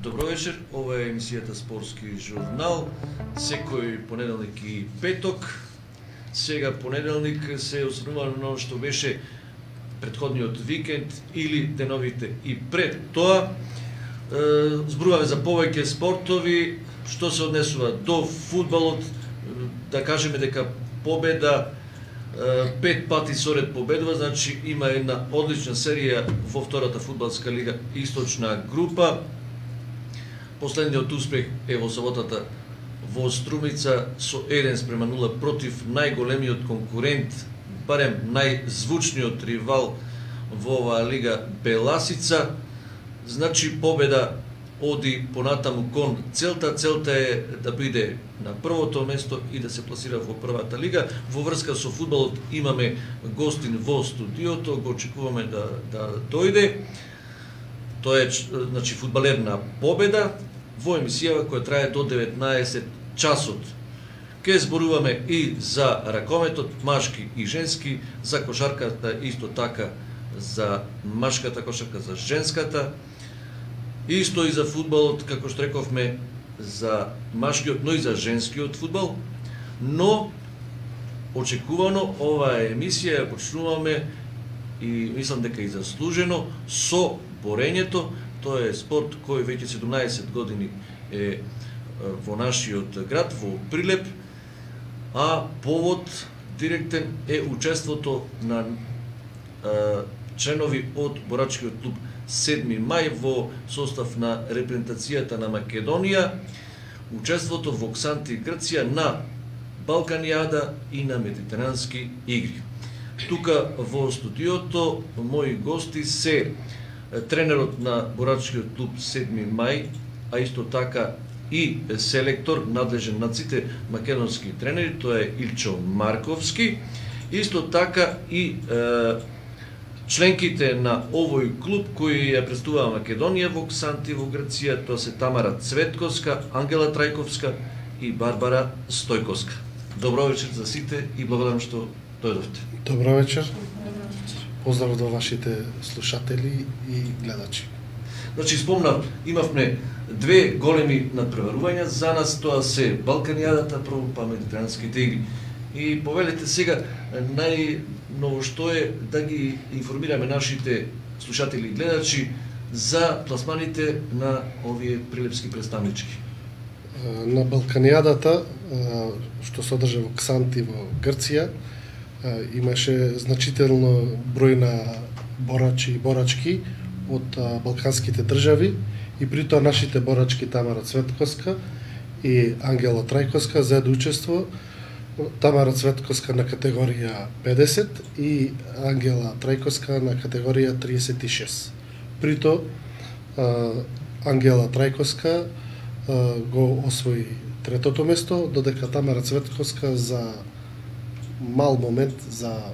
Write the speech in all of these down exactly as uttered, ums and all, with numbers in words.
Добро вечер, ова е емисијата Спортски журнал, секој понеделник и петок. Сега понеделник се осврнува на оно што беше претходниот викенд или деновите и пред тоа. Зборуваме за повеќе спортови, што се однесува до фудбалот, да кажеме дека победа пет пати соред победува, значи има една одлична серија во втората фудбалска лига Источна група. Последниот успех е во саботата во Струмица со еден спрема нула против најголемиот конкурент, барем најзвучниот ривал во оваа лига Беласица. Значи победа оди понатаму кон целта. Целта е да биде на првото место и да се пласира во првата лига. Во врска со фудбалот имаме гостин во студиото, го очекуваме да, да дојде. Тоа е значи фудбалер на победа во емисија која трае до деветнаесет часот. Ке зборуваме и за ракометот, машки и женски, за кошарката исто така, за машката кошарка, за женската, исто и за фудбалот, како што рековме, за машкиот, но и за женскиот фудбал. Но очекувано оваа емисија ја почнуваме и мислам дека и заслужено со борењето. Тоа е спорт кој веќе седумнаесет години е во нашиот град, во Прилеп, а повод директен е учеството на а, членови од борачкиот клуб седми мај во состав на репрезентацијата на Македонија, учеството во Ксанти, Грција, на Балканијада и на Медитерански игри. Тука во студиото мои гости се тренерот на борачкиот клуб седми мај, а исто така и селектор, надлежен над сите македонски тренери, тоа е Илчо Марковски. Исто така и е, членките на овој клуб кои ја представува Македонија во Ксанти во Грција, тоа се Тамара Цветковска, Ангела Трајковска и Барбара Стојковска. Добро вечер за сите и благодарам што дојдовте. Добро вечер. Поздрав до вашите слушатели и гледачи. Значи, спомнав, имавме две големи надпреварувања, за нас тоа се Балканијадата, прво па Медитеранските игри. И повелете сега, најново што е да ги информираме нашите слушатели и гледачи за пласманите на овие прилепски представнички. На Балканијадата, што се одржа во Ксанти во Грција, имаше значително број на борачи и борачки од балканските држави и при тоа нашите борачки Тамара Цветковска и Ангела Трајковска заедно учество. Тамара Цветковска на категорија педесет и Ангела Трајковска на категорија триесет и шест. При тоа Ангела Трајковска го освои третото место, додека Тамара Цветковска за мал момент, за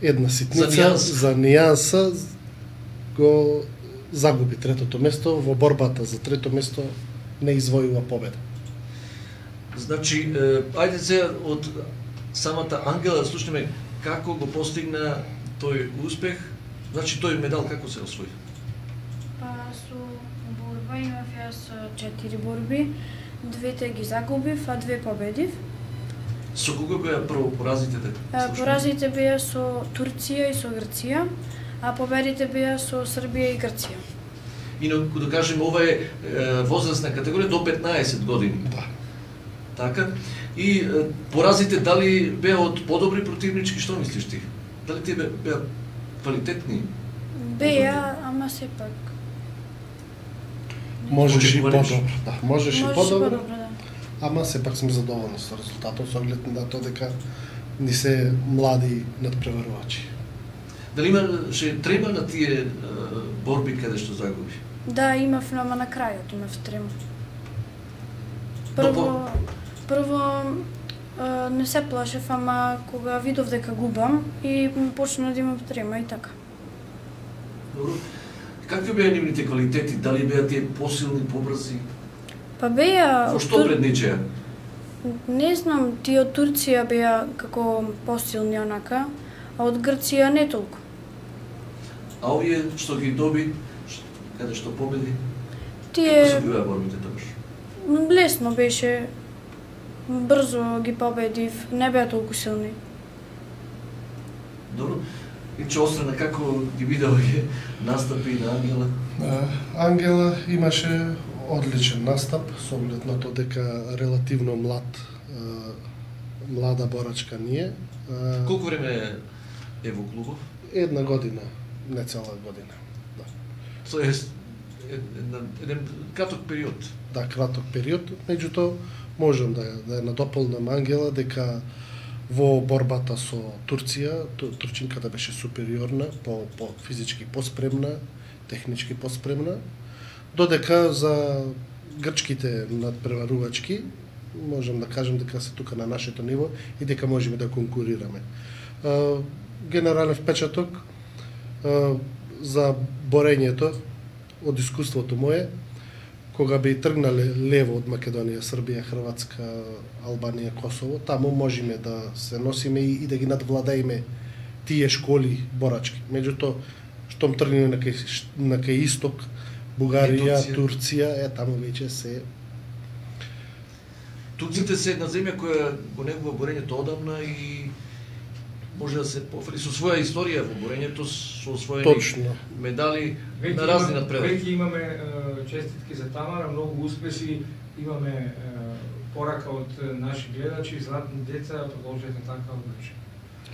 една ситница, за нијанса, го загуби третото место. Во борбата за трето место не извојува победа. Значи, ајде сега од самата Ангела слушнеме како го постигна тој успех. Значи, тој медал како се освои? Па со борба имав јас четири борби, двете ги загубив, а две победив. Со кого беа прво поразите? Поразите беа со Турција и со Грција, а победите беа со Србија и Грција. Инаку да кажеме, ова е, е возрастна категорија до петнаесет години. Да. Така. И е, поразите дали беа од подобри противнички, што мислиш ти? Дали тие беа квалитетни? Беа, ама сепак. Можеш и подобро, да, можеш и подобро. Да. Ама сепак сме задоволни со резултатот, со оглед на тоа дека ни се млади надпреварувачи. Дали имаше трема на тие е, борби каде што загуби? Да, имав, ама на крајот имав трема. Прво, прво е, не се плашев, ама кога видов дека губам и почна да имам трема и така. Добро. Какви беа нивните квалитети? Дали беа тие посилни, побрзи? Па беа... Во што предничеа? Не знам, тие од Турција беа како посилни онака, а од Грција не толку. А овие што ги доби, каде што победи? Тие Како се биваа борбите тамаш? лесно беше. Брзо ги победив, не беа толку силни. Добро. И че острена како ги видел ги настапи на Ангела? Ангела имаше одличен настап, со оглед на тоа дека релативно млад, млада борачка ние. Колку време е во клубов? Една година, не цела година. Да. Тоа е еден краток период. Да, краток период. Меѓутоа, можам да, да ја надополнам Ангела дека во борбата со Турција, турчинката беше супериорна, по, по физички поспремна, технички поспремна, додека за грчките надпреварувачки можам да кажем дека се тука на нашето ниво и дека можеме да конкурираме. Генерален впечаток за борењето од искуството мое, кога би тргнале лево од Македонија, Србија, Хрватска, Албанија, Косово, таму можеме да се носиме и, и да ги надвладаеме тие школи борачки. Меѓутоа, штом тргнеме на кај, на кај исток, Бугарија, Турција. Турција, е таму веќе се. Турците се една земја која го негува борењето одамна и може да се пофали со своја историја во борењето, со своји Точно. медали Веќе на разни има, надпревари. Веќе имаме е, честитки за Тамара, многу успеси, имаме е, порака од наши гледачи, златни деца, продолжете така одлично.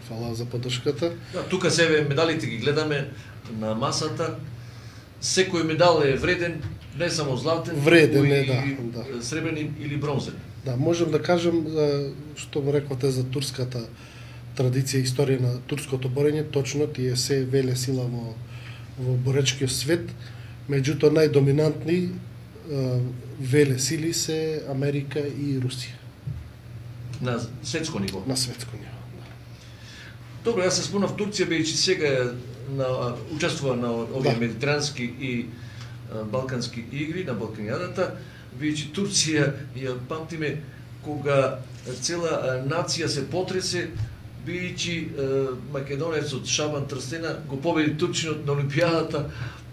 Фала за поддршката. Да, тука себе медалите ги гледаме на масата. Секој медал е вреден, не само златен, Вреден но е, и да, да. сребрен или бронзен. Да, можам да кажам, што го реквате за турската традиција, историја на турското борење, точно тие се веле сила во, во боречкиот свет, меѓутоа најдоминантни е, веле сили се Америка и Русија На светско ниво. на светско ниво. Добро, јас се спомнав Турција, бидејќи сега на, учествува на овие Да. медитерански и а, балкански игри, на Балканијадата, бидејќи Турција ја памтиме кога цела а, нација се потресе, бидејќи македонецот Шабан Трстена го победи турчинот на Олимпијадата,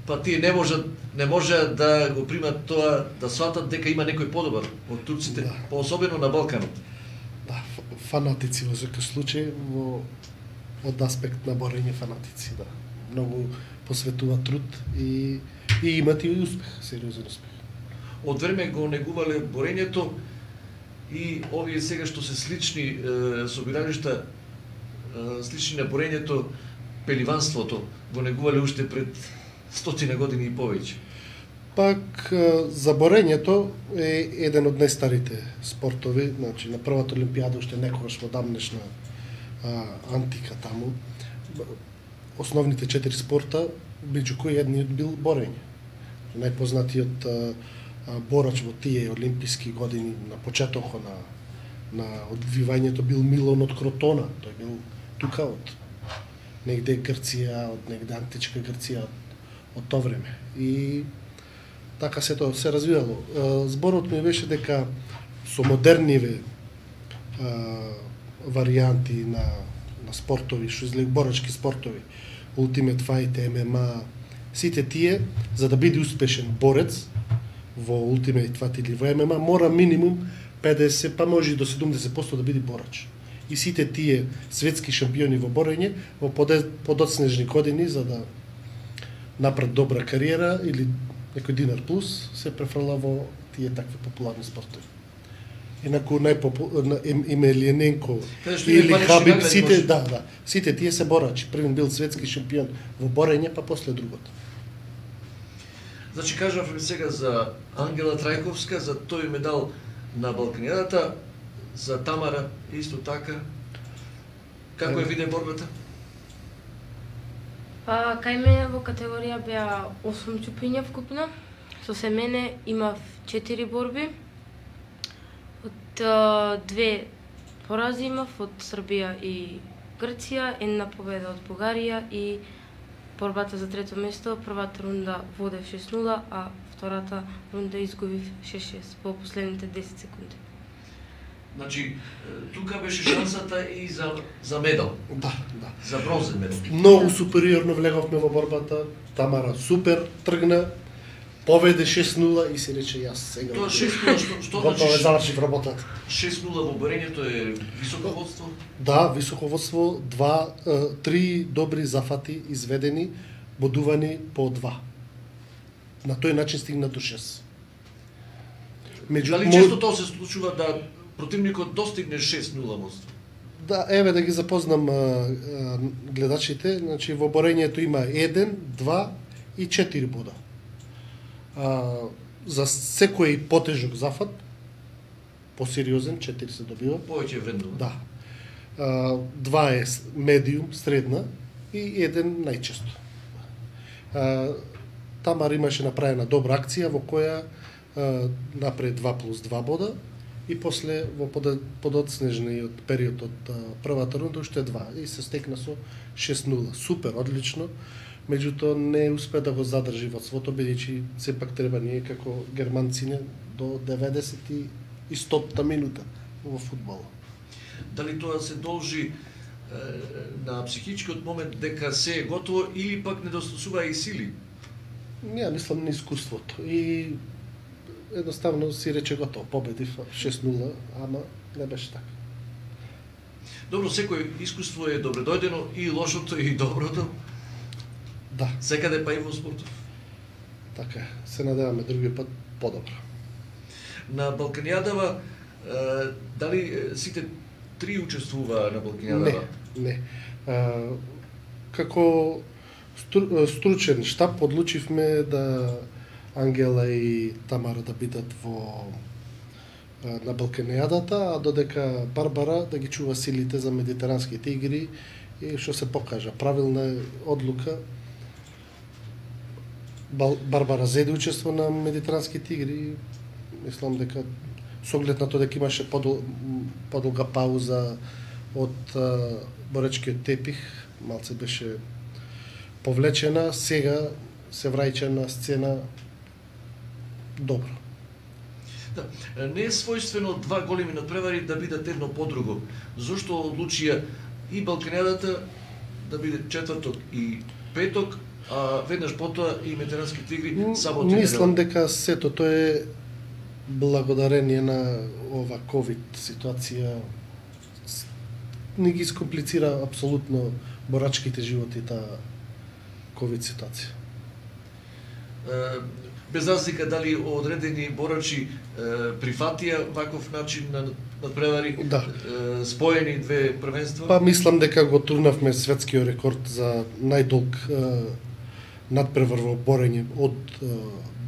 па тие не можат не можеа да го примат тоа, да сватат дека има некој подобар од турците, Да. поособено на Балканот. Да, ф- фанатици во секој случај, во од аспект на борење фанатици, да. Многу посветуваат труд и, и имат и успех, сериозен успех. Од време го негувале борењето и овие сега што се слични е, собиралишта, е, слични на борењето, пеливанството, го негувале уште пред стотина години и повеќе. Пак е, за борењето е еден од најстарите спортови, значи на првата олимпијада уште некогаш во давнешна а, антика таму. Основните четири спорта, меѓу кои едниот бил борење. Најпознатиот а, а, борач во тие олимписки години на почетокот на на одвивањето бил Милон од Кротона. Тој бил тука од негде Грција, од негде античка Грција од, од тоа време. И така се тоа се развивало. А, Зборот ми беше дека со модерниве а, варијанти на на спортови, што излег борачки спортови, Ultimate Fight, Ем Ем А, сите тие за да биде успешен борец во Ultimate Fight или во Ем Ем А мора минимум педесет, па може и до седумдесет проценти да биде борач. И сите тие светски шампиони во борење во поде- подоцнежни години за да направат добра кариера или некој динар плюс се префрла во тие такви популарни спортови. Инаку најпопуларен Емелијаненко Каде што има или панични Хабиб, награди, сите, може. да, да, сите тие се борачи. Првен бил светски шампион во борење, па после другото. Значи, кажав сега за Ангела Трајковска, за тој медал на Балканијадата, за Тамара исто така. Како е виден борбата? Па, кај мене во категорија беа осум чупиња вкупно. Со се мене имав четири борби. Од а, две порази имав од Србија и Грција, една победа од Бугарија и борбата за трето место. Првата рунда водев шест нула, а втората рунда изгубив шест шест во последните десет секунди. Значи, тука беше шансата и за, за медал, Да, да. за бронзен медал. Многу супериорно влеговме во борбата. Тамара супер тргна. Поведе шест нула и си рече јас сега. Тоа шест нула што што Готово значи? завршив работата. шест нула во борењето е високо водство. Да, високо водство, два, е, три добри зафати изведени, бодувани по два. На тој начин стигна до шест. Меѓу Дали често тоа се случува да противникот достигне шест нула водство? Да, еве да ги запознам а, а, гледачите, значи во борењето има еден, два и четири бода. А, за секој потежок зафат, посериозен, четири се добива. Повеќе вредно. Да. А, два е медиум, средна и еден најчесто. А, Тамар имаше направена добра акција во која а, напред два плюс два бода и после во подоцнежниот период од а, првата рунда уште два и се стекна со шест нула. Супер, одлично. Меѓутоа не успе да го задржи водството, бидејќи сепак треба ние како германци до деветдесет и стотта минута во фудбалот. Дали тоа се должи е, на психичкиот момент дека се е готово или пак недостасува и сили? Не, мислам на искуството. И едноставно си рече готово, победив шест нула, ама не беше така. Добро, секој искуство е добредојдено, и лошото и доброто. Да, Секаде па и во спортов. така е. Се надеваме други пат подобро. На Балканијадава, е, дали е, сите три учествува на Не, Балканијадава? не. А, како стру, стручен штаб одлучивме да Ангела и Тамара да бидат во а, на Балканијадата, а додека Барбара да ги чува силите за медитеранските игри и што се покажа правилна одлука. Бал, Барбара зеде учество на медитеранските игри и мислам дека со оглед на тоа дека имаше подол, подолга пауза од а, боречкиот тепих, малце беше повлечена, сега се враќа на сцена добро. Да, не е својствено два големи надпревари да бидат едно по друго. Зошто одлучија и Балканијадата да биде четврток и петок, а веднаш потоа и медитеранските игри сабота и Мислам недела? дека сето тоа е благодарение на ова ковид ситуација с- не ги скомплицира апсолутно борачките животи таа ковид ситуација. Е, без разлика дали одредени борачи е, прифатија ваков начин на надпревари, Да. е, споени две првенства? Па мислам дека го турнавме светскиот рекорд за најдолг е, надпревар во борење од е,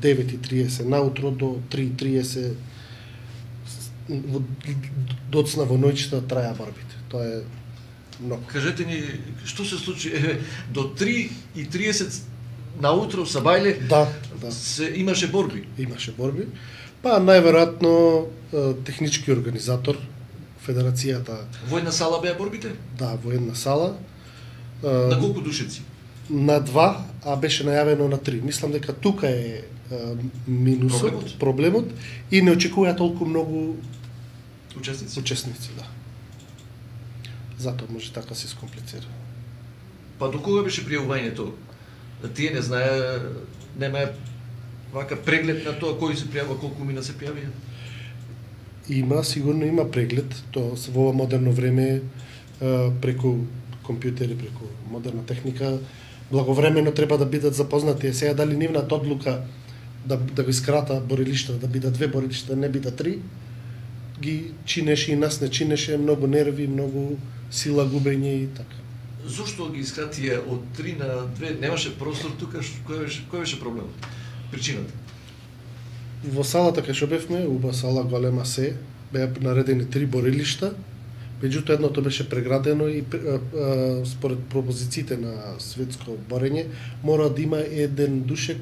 девет и триесет наутро до три и триесет во- доцна во ноќта траја борбите. Тоа е многу. Кажете ни, што се случи? Е, до три и триесет наутро са бајле, Да, да. се имаше борби. Имаше борби. Па најверојатно е, технички организатор, федерацијата, Војна сала беа борбите? да, во една сала, е, На колку душеци? на два, а беше најавено на три. Мислам дека тука е, е минусот, Проблемот? проблемот и не очекува толку многу Учесници? учесници, да. Затоа може така се скомплицира. Па до кога беше пријавувањето? Тие не знае, немаја вака преглед на тоа кој се пријавува, колку мина се пријавија? Има, сигурно има преглед, тоа се во ова модерно време е, преку компјутери, преку модерна техника, благовремено треба да бидат запознати. Е, сега дали нивната одлука да, да го искрата борилишта, да бидат две борилишта, не бидат три, ги чинеше и нас не чинеше, многу нерви, многу сила губење и така. Зошто ги искратија од три на две? Немаше простор тука, ш- кој беше, кој беше проблемот? Причината? Во салата кај што бевме, уба сала голема се, беа наредени три борилишта, меѓутоа едното беше преградено и а, а, според пропозициите на светско борење мора да има еден душек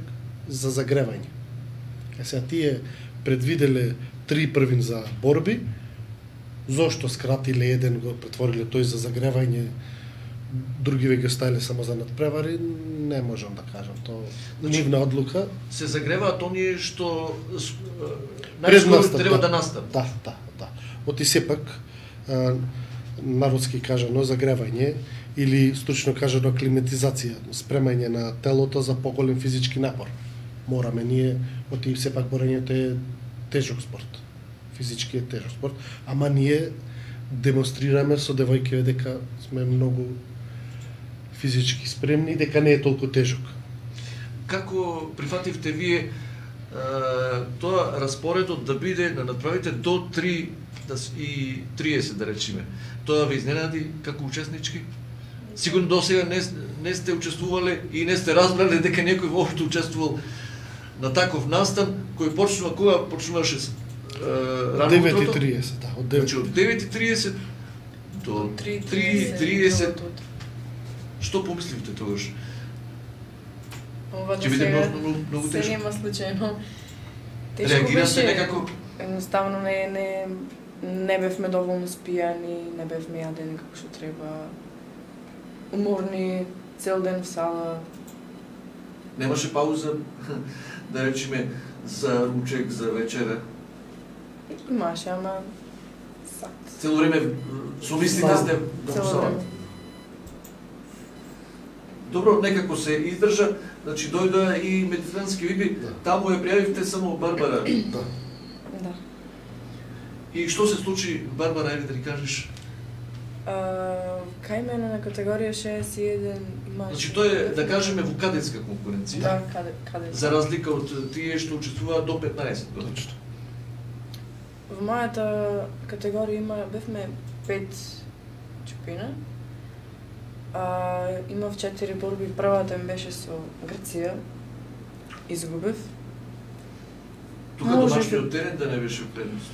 за загревање. Е сега тие предвиделе три првин за борби, зошто скратиле еден, го претвориле тој за загревање, други веќе оставиле само за надпревари, не можам да кажам, тоа Значи, нивна одлука. Се загреваат оние што с- Пред најскоро настап, треба да. да настап. Да, да, да. Оти сепак, а, народски кажано, загревање или стручно кажано аклиматизација, спремање на телото за поголем физички напор. мораме ние, оти сепак борењето е тежок спорт. Физички е тежок спорт, ама ние демонстрираме со девојките дека сме многу физички спремни, дека не е толку тежок. Како прифативте вие е, тоа распоредот да биде, да направите до три и триесет, да речеме? Тоа ви изненади како учеснички? Сигурно до сега не, не сте учествувале и не сте разбрале дека некој воопшто учествувал на таков настан, кој почнува, кога почнуваше рано девет и утрото? триесет, да, од девет. Значи од девет и триесет до три и триесет. Што помисливте тогаш? Ова Ќе до биде сега многу, многу, многу се тешко. нема случајно. Тешко Реагирате беше. некако? Едноставно не не не бевме доволно спијани, не бевме јадени како што треба. Уморни, цел ден в сала. Немаше пауза, да речеме, за ручек, за вечера. Имаше, ама сат. Цело време со мислите Да, сте да цело му време. Добро, некако се издржа, значи дојда и медицински виби, Да. таму ја пријавивте само Барбара. Да. Да. И што се случи, Барбара, ајде да ни кажеш? А, кај мене на категорија шеесет и еден имаше... Значи тоа е, да кажеме, во кадетска конкуренција. Да, каде, каде. За разлика од тие што учествуваат до петнаесет години. Точно. Во мојата категорија има бевме пет чупина. А, имав четири борби, првата ми беше со Грција. Изгубив. Тука Може домашниот би- терен да не беше предност.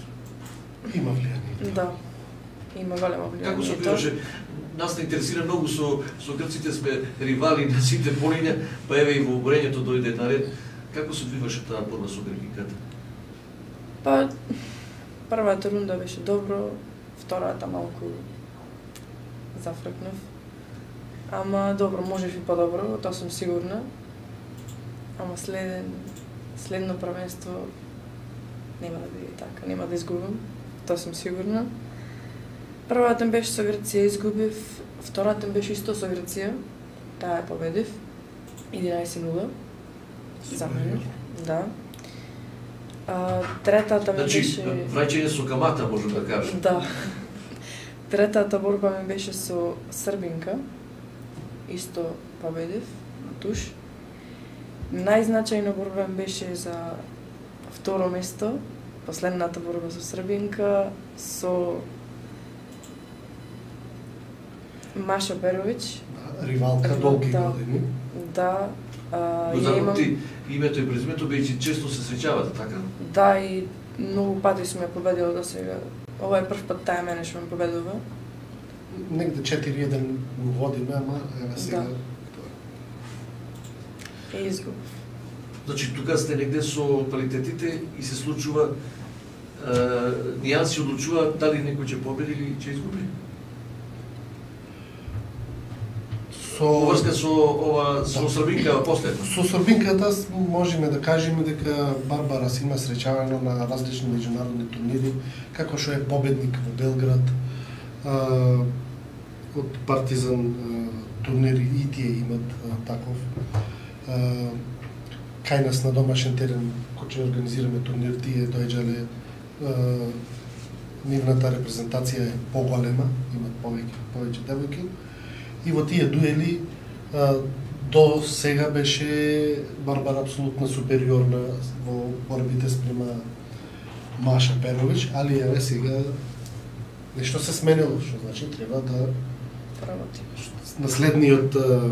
Има влијание. Да. Има големо влијание. Како се тоа. биваше? Нас не интересира многу со со грците, сме ривали на сите полиња, па еве и во оборењето дојде наред. Како се биваше таа борба со грекиката? Па, првата рунда беше добро, втората малку зафркнав. Ама добро, можеш и подобро, тоа сум сигурна. Ама следен, следно првенство нема да биде така, нема да изгубам, тоа сум сигурна. Првата ми беше со Грција, изгубив, втората ми беше исто со Грција, таа ја победив, единаесет нула, за мене, да. А, третата ми Значи, беше... враќање со камата, можем да кажем. Да. Третата борба ми беше со Србинка. Исто победив, на туш. Најзначајна борба ми беше за второ место. Последната борба со Србинка, со Маша Перовиќ. Ривалка долги Да. години. Да. А, Го ја имам... запомти името и презимето, бидејќи често се среќавате, така? Да, и многу пати сум ја победила до сега. Ова е прв пат таа мене што ме победува. Негде четири еден водиме, ама еве сега. Да. И изгубив. Значи, тука сте негде со квалитетите и се случува е, нијанси одлучуваат дали некој ќе победи или ќе изгуби. Со Во врска со ова со Да. Србинка последно. Со Србинката можеме да кажеме дека Барбара се има среќавано на различни меѓународни турнири, како што е победник во Белград, а, од Партизан а, турнири и тие имат а, таков. А, кај нас на домашен терен, кој ќе организираме турнир, тие доаѓале, а, нивната репрезентација е поголема, имат повеќе повеќе девојки. И во тие дуели а, до сега беше Барбара апсолутно супериорна во борбите спрема Маша Перовиќ, али еве сега нешто се сменило, што значи треба да Работи. наследниот а,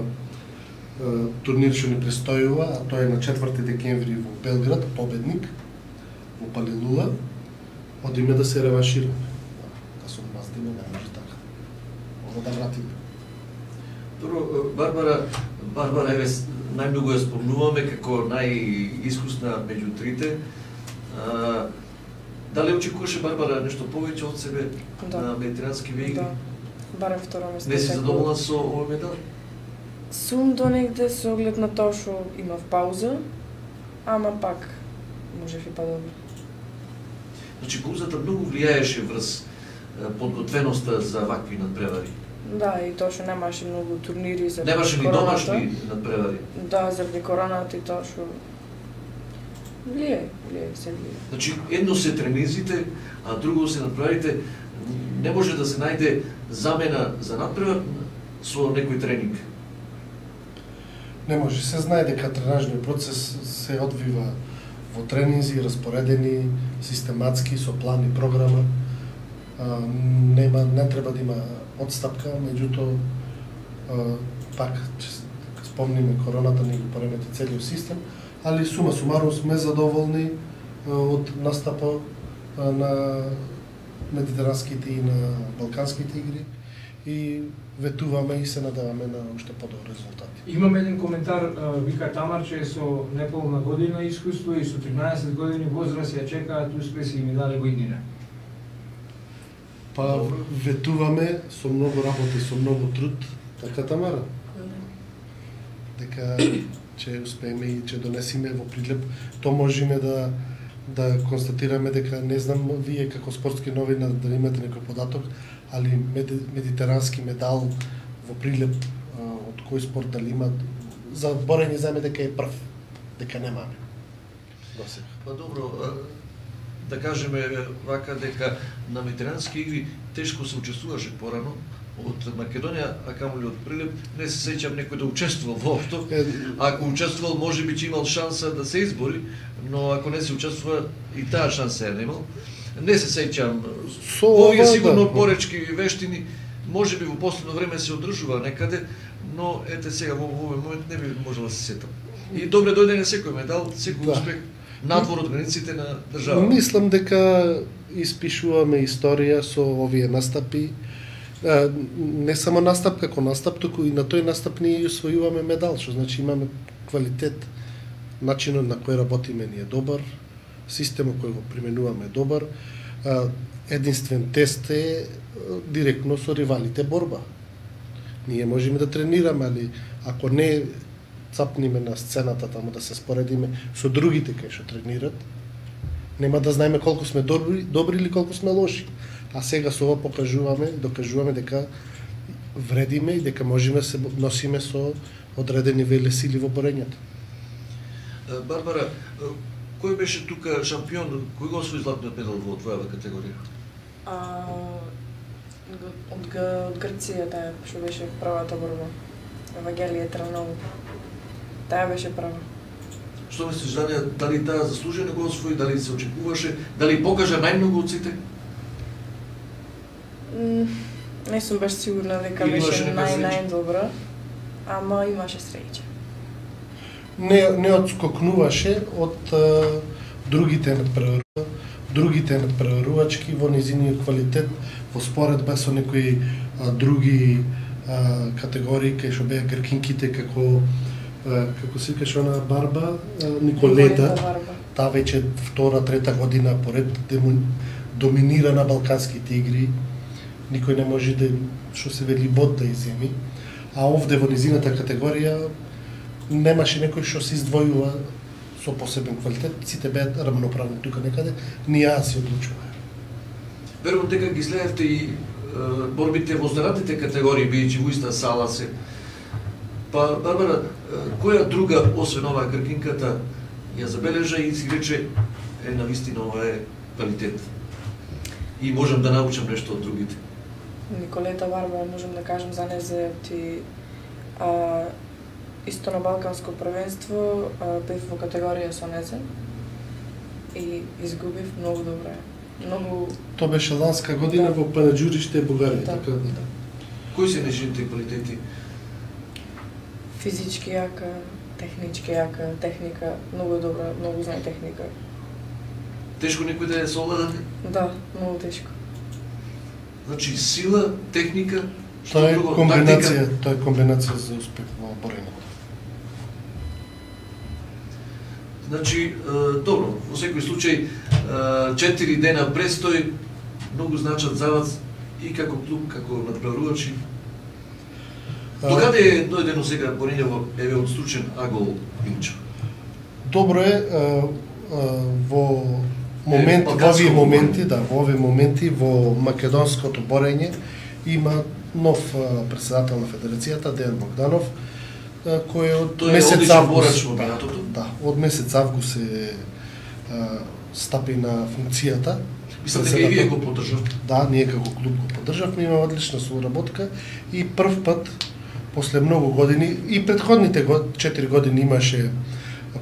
а, турнир што ни престојува, а тоа е на четврти декември во Белград, победник во Палилула, одиме да се реваншираме. Да се одмаздиме, не може така. Ова да вратиме. Прво, Барбара, Барбара еве најмногу ја спомнуваме како најискусна меѓу трите. А, дали очекуваше Барбара нешто повеќе од себе Да. на медитерански вејги? Да. Барем второ место. Не си секој. задоволна со овој медал? Сум до негде со оглед на тоа што имав пауза, ама пак можев и подобро. Значи, паузата многу влијаеше врз е, подготвеноста за вакви надпревари. Да, и тоа што немаше многу турнири за Немаше ни короната. домашни надпревари. Да, заради короната и тоа што Влијае, влијае, се влијае. Значи, едно се тренизите, а друго се надправите, не може да се најде замена за надпревар со некој тренинг. Не може, се знае дека тренажниот процес се одвива во тренинзи, распоредени, систематски, со план и програма. А, нема, не треба да има одстапка, меѓутоа, пак, спомниме, короната ни го поремети целиот систем, али сума сумарум сме задоволни а, од настапот на медитеранските и на балканските игри и ветуваме и се надаваме на уште подобри резултати. Имам еден коментар, вика Тамар, че со неполна година искуство и со тринаесет години возраст ја чекаат успеси и медали во иднина. Па ветуваме со многу работа и со многу труд, така Тамара? Дека ќе успееме и ќе донесеме во Придлеп, то можеме да да констатираме дека не знам вие како спортски новина да имате некој податок, али мед, медитерански медал во Прилеп од кој спорт дали има за борење заеме дека е прв, дека немаме. Досега. Па добро, да кажеме вака дека на медитерански игри тешко се учествуваше порано од Македонија, а камоли од Прилеп, не се сеќам некој да учествувал воопшто. Ако учествувал, можеби ќе имал шанса да се избори, но ако не се учествува, и таа шанса ја немал. Не се сеќам. Овие сигурно поречки и вештини, можеби во последно време се одржува некаде, но ете сега во овој момент не би можела да се сетам. И добре дојде на секој медал, секој да. Успех надвор од границите на држава. Мислам дека испишуваме историја со овие настапи. Не само настап како настап, туку и на тој настап ние усвојуваме медал, што значи имаме квалитет. Начинот на кој работиме ни е добар, системот кој го применуваме е добар. Единствен тест е директно со ривалите борба. Ние можеме да тренираме, али ако не цапниме на сцената таму да се споредиме со другите кои што тренират, нема да знаеме колку сме добри, добри или колку сме лоши. А сега со ова покажуваме, докажуваме дека вредиме и дека можеме се носиме со одредени велесили во борењето. Барбара, кој беше тука шампион, кој го освои златниот медал во твојава категорија? А, од, од Грција таа што беше првата борба. Евангелие Траново. Таа беше прва. Што мислиш, Данија, дали таа заслужено го освои, дали се очекуваше, дали покажа најмногу од сите? Не сум баш сигурна дека беше нај-најдобра, ама имаше среќа. Не, не одскокнуваше од а, другите надпреварувачки, другите надпреварувачки во низиниот квалитет во споредба со некои а, други а, категории кај што беа гркинките како а, како се викаше она Барба, а, Николета. Таа веќе втора, трета година поред доминира на балканските игри. Никој не може да што се вели бод да иземи. А овде во низината категорија немаше некој што се издвојува со посебен квалитет, сите беа рамноправни тука некаде, ни ја се одлучува. Верувам дека ги следевте и е, борбите во останатите категории, бијќи во иста сала се. Па, Барбара, е, која друга, освен оваа гркинката, ја забележа и си рече, е, навистина ова е квалитет. И можам да научам нешто од другите. Николета Барба, можам да кажам за незе, ти а, исто на балканско првенство бев во категорија со незе и изгубив многу добре. Многу Тоа беше ланска година да. Во Панаџуриште, Бугарија, да. така да. Кои се нешните квалитети? Физички јака, технички јака, техника, многу добра, многу знае техника. Тешко некој да е совладан? Да, многу тешко. Значи сила, техника, што тоа е друго, комбинација, тактика? тоа е комбинација за успех во борењето. Значи, е, добро, во секој случај, е, четири дена престој, многу значат за вас и како клуб, како надпреварувачи. Докаде е дојдено сега борење еве од Стручен Агол Илча? Добро е, а, а, во момент, во овие моменти, да, во овие моменти во македонското борење има нов а, председател на федерацијата, Дејан Богданов, а, кој од Тој е месец одличен август, борач во да, минатото. да, од месец август е стапи на функцијата. Мислам дека и вие го поддржавте. Да, ние како клуб го поддржавме, има одлична соработка и прв пат после многу години и предходните четири години имаше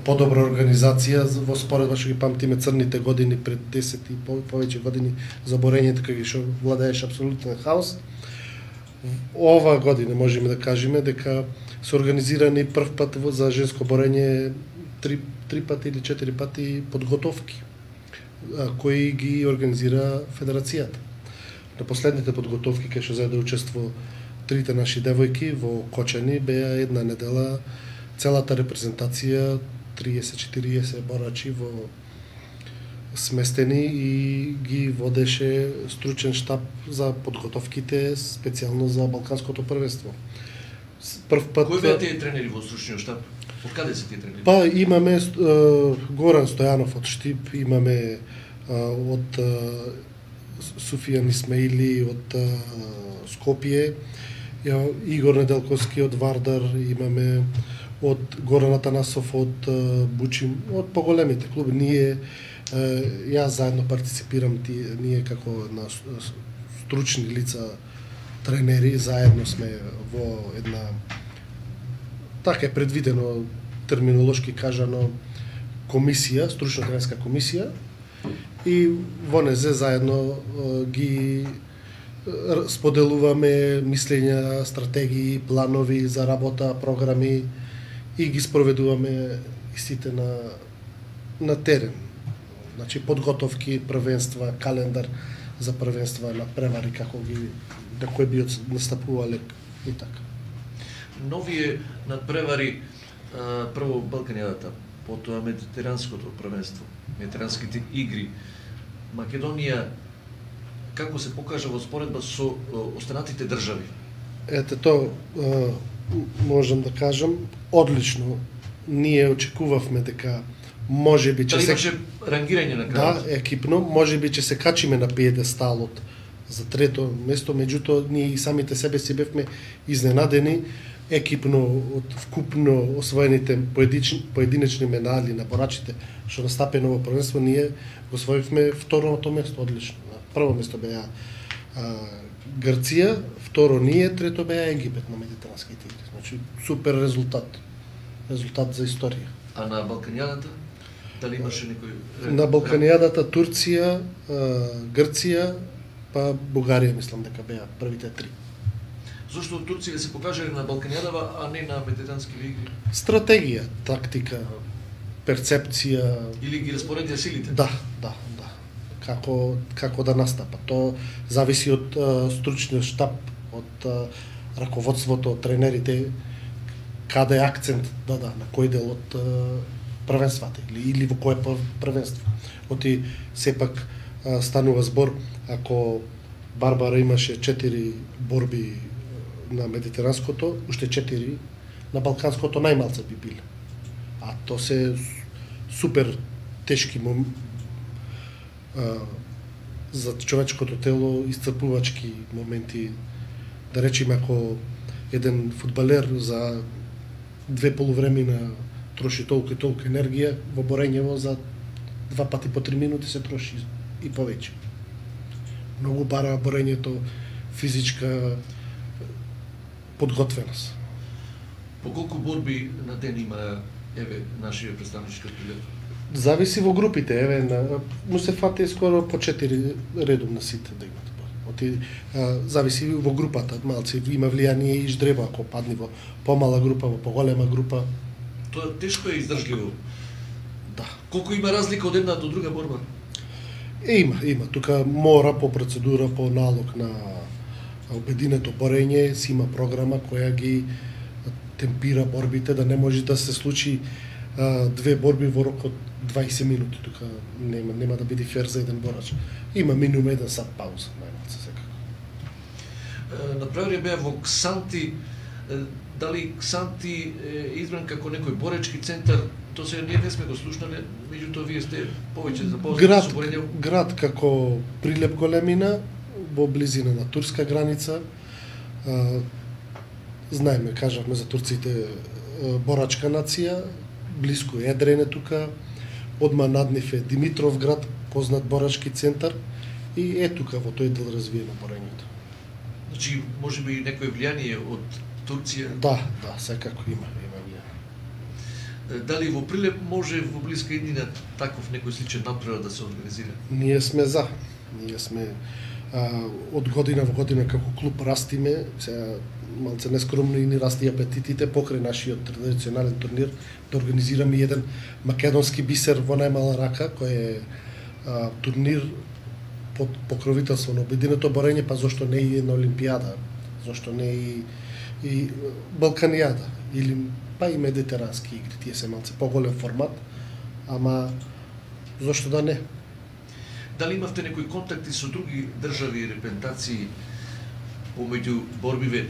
подобра организација во споредба што ги памтиме црните години пред десет и повеќе години за борењето кога што владееше апсолутен хаос. Ова година можеме да кажеме дека се организирани прв пат за женско борење три, три пати или четири пати подготовки кои ги организира Федерацијата. На последните подготовки кај што заедно учество трите наши девојки во Кочани беа една недела целата репрезентација триесет четириесет борачи во сместени и ги водеше стручен штаб за подготовките специјално за Балканското првенство. Прв пат Кои беа тие тренери во стручниот штаб? Од каде се тие тренери? Па имаме uh, Горан Стојанов од Штип, имаме uh, од uh, Суфијан Исмаили од uh, Скопје, Игор Неделковски од Вардар, имаме од Горан Атанасов од uh, Бучим, од поголемите клуби. Ние uh, јас заедно партиципирам, ти, ние како на стручни лица тренери заедно сме во една, така е предвидено терминолошки кажано, комисија, стручна тренерска комисија, и во незе заедно ги споделуваме мислења, стратегии, планови за работа, програми и ги спроведуваме истите на на терен. Значи подготовки, првенства, календар за првенства на превари како ги на кој би настапувале и така. Новие надпревари, прво Балканијадата, потоа Медитеранското првенство, Медитеранските игри. Македонија како се покажа во споредба со останатите држави? Ете то можам да кажам одлично. Ние очекувавме дека можеби че се имаше рангирање на крајот. Да, екипно, можеби че се качиме на пиедесталот за трето место, меѓутоа ние и самите себе си бевме изненадени екипно од вкупно освоените поединечни, поединечни медали на борачите што настапено во првенство, ние го освоивме второто место одлично. Прво место беа а, Грција, второ ние, трето беа Египет на Медитеранските игри. Значи супер резултат. Резултат за историја. А на Балканијадата дали имаше некој? На Балканијадата Турција, Грција, па Бугарија мислам дека беа првите три. Зошто Турција се покажале на Балканијадава, а не на Медитеранските игри? Стратегија, тактика, перцепција. Или ги распоредија силите? Да, да, да. Како како да настапа. Тоа зависи од uh, стручниот штаб, од uh, раководството, од тренерите, каде е акцент да да на кој дел од uh, првенствата или или во кое првенство. Оти сепак uh, станува збор ако Барбара имаше четири борби на Медитеранското, уште четири на Балканското најмалце би биле. А то се супер тешки мом... а, за човечкото тело исцрпувачки моменти. Да речеме ако еден фудбалер за две полувремена троши толку и толку енергија, во борењево за два пати по три минути се троши и повеќе. Многу бара борењето физичка подготвеност. По колку борби на ден има еве нашиот представнички билет? Зависи во групите, еве на му се фати скоро по четири редовно сите да имат. Оти а, зависи во групата, малци има влијание и ждреба ако падне во помала група, во поголема група. Тоа тешко е издржливо. Да. Колку има разлика од една до друга борба? Е, има, има. Тука мора по процедура, по налог на обединето борење, си има програма која ги темпира борбите, да не може да се случи а, две борби во рок од дваесет минути. Тука нема, нема да биде фер за еден борач. Има минимум еден сат пауза, најмалце секако. Направија беа во Ксанти, дали Ксанти е избран како некој боречки центар, тоа се ние не сме го слушнале, меѓутоа вие сте повеќе запознати со борење. Град како Прилеп големина, во близина на турска граница. А, знаеме, кажавме за турците, борачка нација, блиску Едрене тука, одма над нив е Димитровград, познат борачки центар, и е тука во тој дел развиено борењето. Значи, може би некој влијание од Турција? Да, да, секако има, има влијание. Дали во Прилеп може во блиска иднина таков некој сличен напредок да се организира? Ние сме за. Ние сме а, од година во година како клуб растиме, сега малце нескромно и ни расти апетитите покрај нашиот традиционален турнир да организираме еден македонски бисер во најмала рака, кој е а, турнир под покровителство на обединето борење, па зошто не и на Олимпијада, зошто не и, и Балканијада, или па и медитерански игри, тие се малце поголем формат, ама зошто да не? Дали имавте некои контакти со други држави и репрезентации помеѓу борбиве?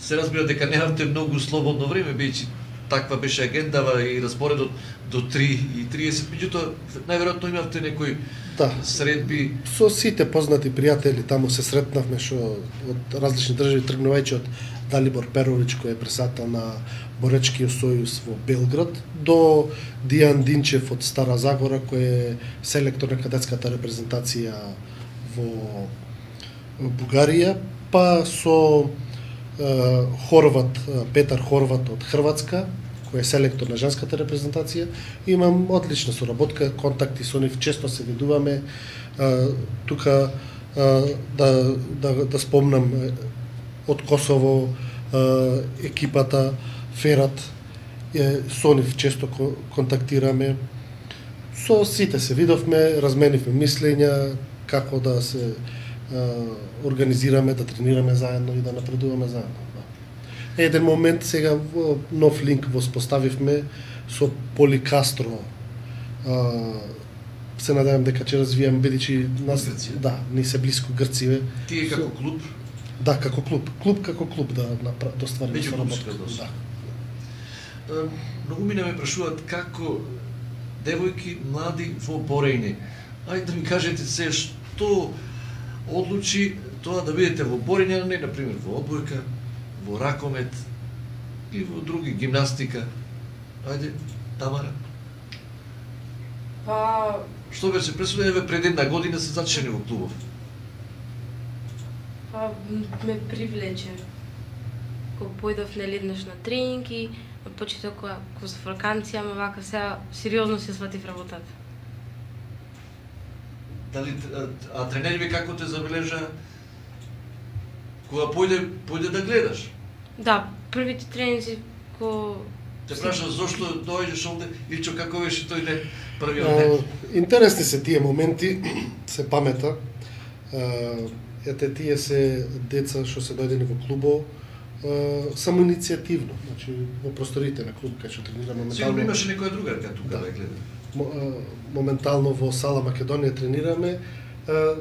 Се разбира дека немавте многу слободно време, бидејќи таква беше агендава и распоредот до три и триесет, меѓутоа најверојатно имавте некои да. средби. Со сите познати пријатели таму се сретнавме, што од различни држави, тргнувајќи од Далибор Перович, кој е председател на Боречкиот сојуз во Белград, до Дијан Динчев од Стара Загора, кој е селектор на кадетската репрезентација во Бугарија, па со е, Хорват, Петар Хорват од Хрватска, кој е селектор на женската репрезентација. Имам одлична соработка, контакти со нив, често се видуваме. Е, тука е, да, да, да спомнам од Косово е, екипата Ферат, е, со нив често контактираме. Со сите се видовме, разменивме мислења како да се е, организираме, да тренираме заедно и да напредуваме заедно. Да. Еден момент сега во нов линк воспоставивме со Поли Кастро. Е, се надевам дека ќе развијам, бидејќи нас Грција. Да, ни се блиску Грциве. Тие како клуб? Да, како клуб. Клуб како клуб да доствариме Меѓу соработка. клубска Да. Многу ми ме прашуваат како девојки млади во борење. Ајде да ми кажете се што одлучи тоа да бидете во борење, а не на пример во одбојка, во ракомет и во други гимнастика. Ајде, Тамара. Па, Што беше пресудено пред една година се зачени во клубов? Па ме привлече. Кога појдов нели еднаш на тренинг и на почеток кога кога за ваканција, ама вака сега сериозно се сватив работата. Дали а, а тренериве како те забележа кога појде појде да гледаш? Да, првите тренинзи ко Те праша зошто дојдеш овде или што како беше тој ден, првиот А, ден? интересни се тие моменти, се памета. А, ете тие се деца што се дојдени во клубо само иницијативно, значи во просторите на клуб кај што тренираме Сигурно моментално. имаше некоја другарка тука Да. да гледа. Мо- а, моментално во сала Македонија тренираме. А,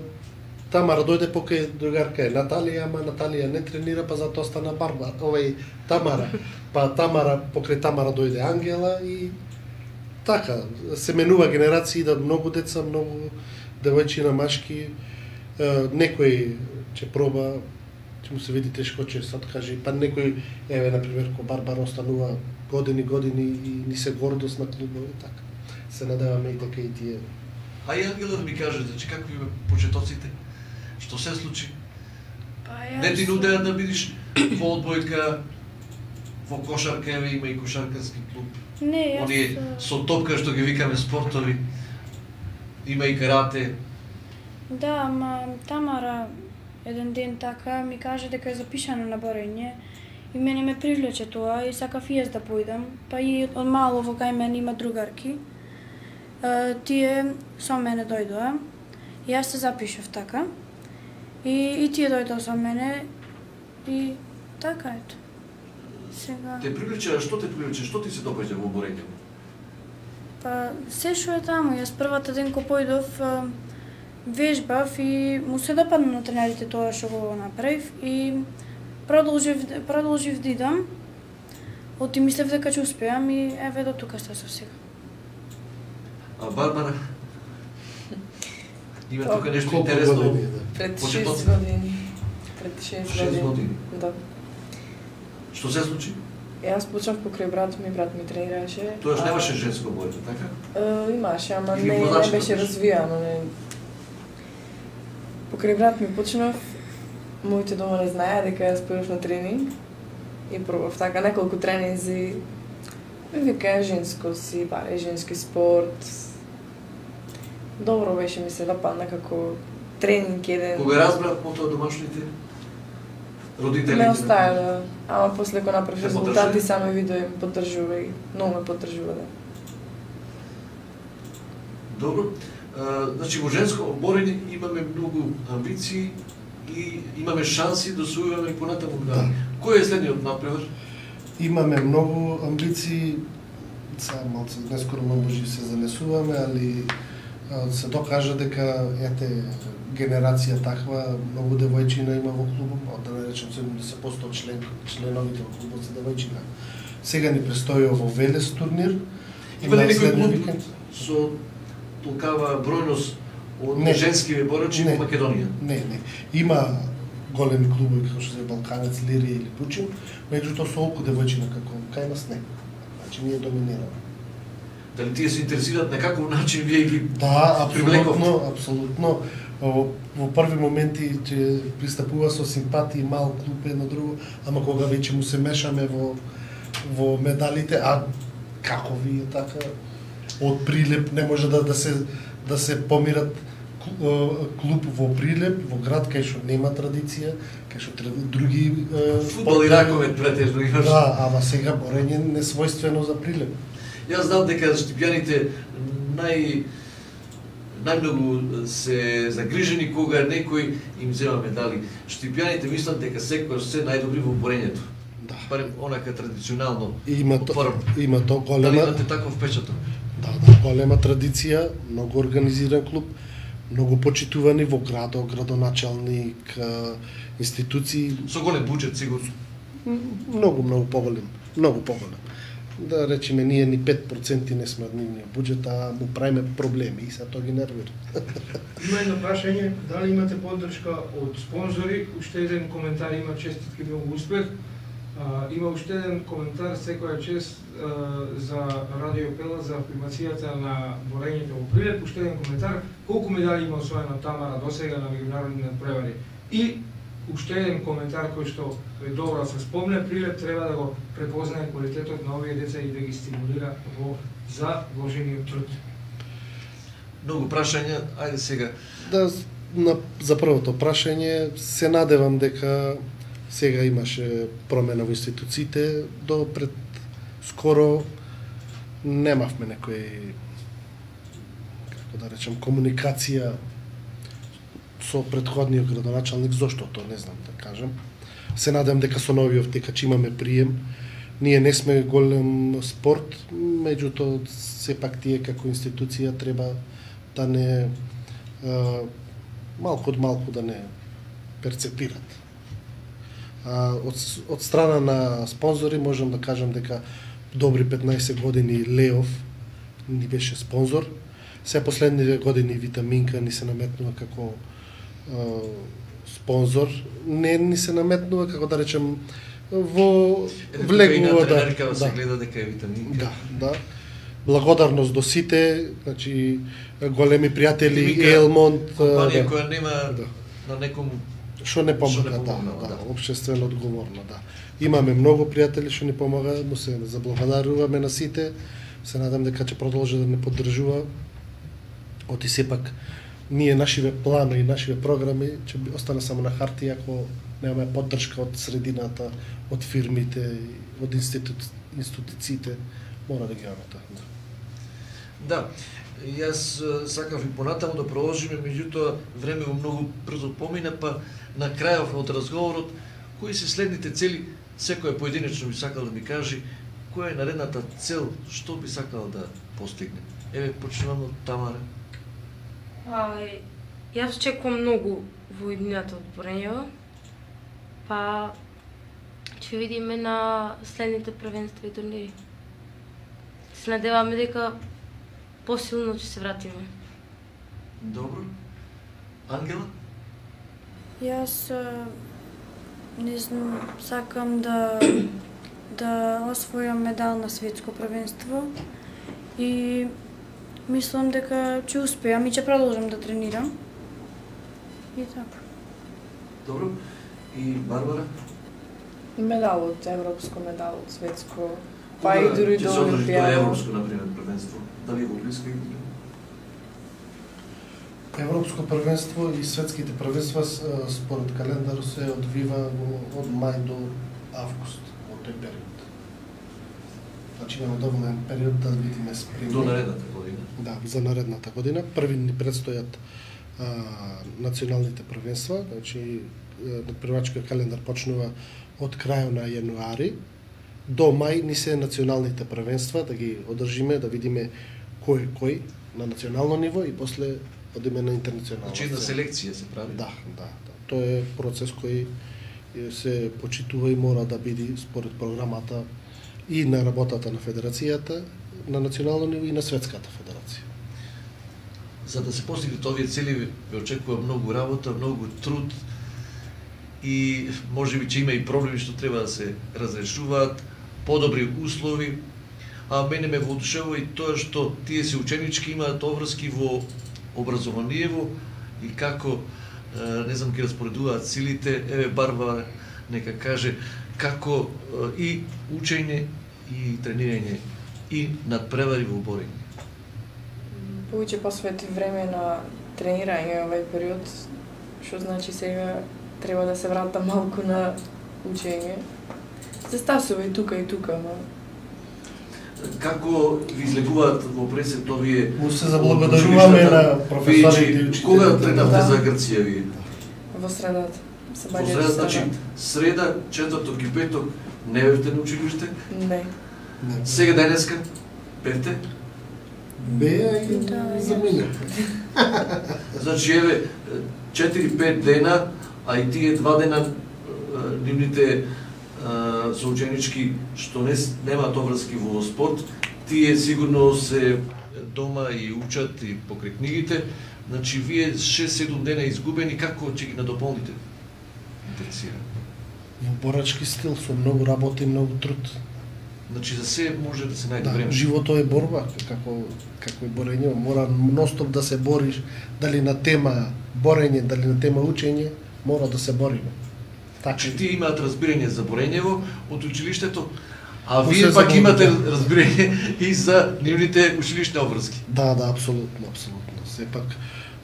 Тамара дојде покај другарка е Наталија, ама Наталија не тренира, па затоа стана Барбара, овај Тамара. Па Тамара, покрај Тамара дојде Ангела и така, се менува генерации, да многу деца, многу девојчина, машки, е, некој ќе проба, ќе му се види тешко, ќе се откаже, па некој, еве, например, ко Барбара останува години, години и ни се гордост на клубови, така. Се надеваме и дека и тие. А и Ангела да ми каже, значи како ви почетоците? Што се случи? Па јас... Не ти нудеа да бидиш во одбојка, во кошарка, еве има и кошаркарски клуб. Не, јас... Оние со топка што ги викаме спортови. Има и карате. Да, ама Тамара еден ден така ми каже дека е запишана на борење и мене ме привлече тоа и сакав и јас да појдам. Па и од мало во кај мене има другарки. Е, тие со мене дојдоа. И јас се запишав така. И, и тие дојдоа со мене и така ето. Сега... Те привлече, што те привлече, што ти се допаѓа во борење? Па, се што е таму, јас првата ден кога појдов, а, вежбав и му се допадна на тренерите тоа што го направив и продолжив, продолжив да идам. Оти мислев дека ќе успеам и еве до тука стасов сега. А Барбара? Има Па, тука нешто колку интересно. години, да. пред Почетоци? шест години. Пред шест Шест години. години. Да. Што се случи? Јас почнав покрај брат ми, брат ми тренираше. Тоеш немаше женско бојка, така? Е, имаше, ама Или не, не водачка беше беше? развијано. Не. Покрај брат ми почнав, моите дома не знаеа дека јас појдов на тренинг и пробав така неколку тренинзи. Ми вика женско си, баре женски спорт. Добро беше, ми се допадна како тренинг еден. Кога разбрав потоа домашните родителите? Ме оставила, ама после кога направив Те резултати поддржали? само видео им поддржува и многу ме поддржува, да. Добро. А, значи во женско борење имаме многу амбиции и имаме шанси да освојуваме и понатаму медали. Кој е следниот напревар? Имаме многу амбиции, сега малце нескоро може се занесуваме, али а, се докажа дека ете генерација таква, многу девојчина има во клубот, да не речем седумдесет проценти од член, членовите во клубот се девојчина. Сега ни престои во Велес турнир. Има ли на некој следниот клуб викенд. со толкава бројност од Не. женски борачи Не. во Македонија? Не, не. Има големи клубови како што се Балканец, Лирија или Пучин, меѓутоа со толку девојчина како кај нас не. Значи ние доминираме. Дали тие се интересираат на каков начин вие ги Да, привлековте? апсолутно, апсолутно. Во, во први моменти ќе пристапува со симпатии мал клуб едно друго, ама кога веќе му се мешаме во во медалите, а како вие така од Прилеп не може да да се да се помират клуб во Прилеп, во град кај што нема традиција, кај што треба други е, фудбал и раковет претежно имаш? Да, ама сега борење не својствено за Прилеп. Јас знам дека штипјаните нај најмногу се загрижени кога некој им зема медали. Штипјаните мислат дека секогаш се најдобри во борењето. Да. Барем онака традиционално. Има то, Отворам. има то Дали голема имате таков впечаток? Да, да, голема традиција, многу организиран клуб, многу почитувани во градот, градоначалник, а, институции, Со голем буџет сигурно. м, многу, многу поголем, многу поголем. Да речеме, ние ни пет проценти не сме од нивниот буџет, а му правиме проблеми и се тоа ги нервира. Има едно прашање, дали имате поддршка од спонзори? Уште еден коментар има, честитки, многу успех. А, има уште еден коментар, секоја чест а, за Радио Пела, за афирмацијата на борењето во Прилеп. Уште еден коментар, колку медали има освоена Тамара досега на меѓународни надпревари? И уште еден коментар кој што е добро да се спомне, Прилеп треба да го препознае квалитетот на овие деца и да ги стимулира во за вложениот труд. Многу прашања, ајде сега. Да, на, за првото прашање, се надевам дека сега имаше промена во институциите, до пред скоро немавме некој, како да речем, комуникација со предходниот градоначалник, зошто тоа не знам да кажам. Се надевам дека со новиот дека ќе имаме прием. Ние не сме голем спорт, меѓутоа сепак тие како институција треба да не а, малку од малку да не перцепират. А, од, од страна на спонзори можам да кажам дека добри петнаесет години Леов ни беше спонзор. Се последните години Витаминка ни се наметнува како а, спонзор. Не ни се наметнува, како да речем, во влегува да. Тренерка да се да. гледа дека е Витаминка. Да, да. Благодарност до сите, значи големи пријатели Витаминка, Елмонт, компанија да, која нема да. на некому што не Што помага, не да, помогнала, да, да. општествено одговорно, да. Имаме многу пријатели што ни помагаат, му се заблагодаруваме на сите. Се надам дека ќе продолжи да не поддржува. Оти сепак ние нашиве планови и нашиве програми ќе би- остане само на хартија ако немаме поддршка од средината, од фирмите, од институ... институциите, мора да ги имаме тоа. Да. Да, јас е, сакав и понатаму да продолжиме, меѓутоа време многу брзо помина, па на крајов од разговорот, кои се следните цели, секој поединечно би сакал да ми кажи, која е наредната цел, што би сакал да постигне. Еве, почнувам од Тамара. А, јас чекувам многу во иднината од борењево, па ќе видиме на следните првенства и турнири. Се надеваме дека посилно ќе се вратиме. Добро. Ангела? Јас а, не знам, сакам да да освојам медал на светско првенство и мислам дека ќе успеам и ќе продолжам да тренирам. И така. Добро. И Барбара? Медал од европско, медал од светско, па и Кога дури ќе до се одржи тоа Олимпијада. европско, например, првенство? Дали го блиска или? Европско првенство и светските првенства с- според календар се одвива во- од мај до август, во тој период. Значи имаме доволен период да видиме спремни. До наредната година. Да, за наредната година. Први ни предстојат а, националните првенства, значи е, надпреварачкиот календар почнува од крајот на јануари до мај ни се националните првенства, да ги одржиме, да видиме кој е кој на национално ниво и после одиме на интернационално. Значи една селекција се прави. Да, да, да. Тоа е процес кој е, се почитува и мора да биде според програмата и на работата на федерацијата на национално ниво и на светската федерација. За да се постигнат овие цели ве очекува многу работа, многу труд и можеби ќе има и проблеми што треба да се разрешуваат, подобри услови, а мене ме воодушевува и тоа што тие се ученички имаат обврски во образованиево и како е, не знам ќе распоредуваат силите. Еве Барбара нека каже како е, и учење и тренирање и надпревари во борење. Повеќе посвети време на тренирање овај период, што значи сега треба да се вратам малку на учење. Се стасува и тука и тука, но Како ви излегуваат во пресет овие? Му се заблагодаруваме на професорите и учителите. Кога тренавте Да. за Грција вие? во средата се Во баѓа среда, до значи среда, четврток и петок не бевте на училиште? Не. Сега денеска бевте? Беа и Да, замина. Значи еве четири-пет дена, а и тие два дена е, нивните е, соученички што не с- немаат обврски во спорт, тие сигурно се дома и учат и покрај книгите. Значи вие шест-седум дена изгубени, како ќе ги надополните? Интересира. Во борачки стил со многу работа и многу труд. Значи за се може да се најде Да, време. животот е борба, како како и борење, мора ностоп да се бориш, дали на тема борење, дали на тема учење, мора да се бориме. Така. Значи тие имаат разбирање за борењево од училиштето, а Му вие се пак имате заблагодарувам. разбирање и за нивните училишни обврски. Да, да, апсолутно, апсолутно. Сепак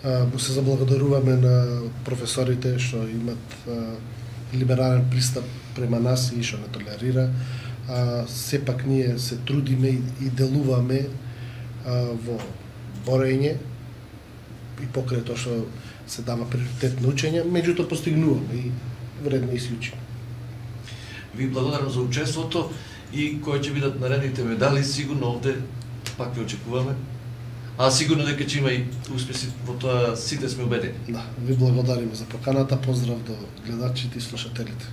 а, му се заблагодаруваме на професорите што имат а, либерален пристап према нас и што не толерира. А, сепак ние се трудиме и, и делуваме а, во борење и покрај тоа што се дава приоритет на учење, меѓутоа постигнуваме и вредно и си учиме. Ви благодарам за учеството и кои ќе бидат наредните медали, сигурно овде пак ви очекуваме. А сигурно дека ќе има и успеси во тоа, сите сме убедени. Да, ви благодариме за поканата, поздрав до гледачите и слушателите.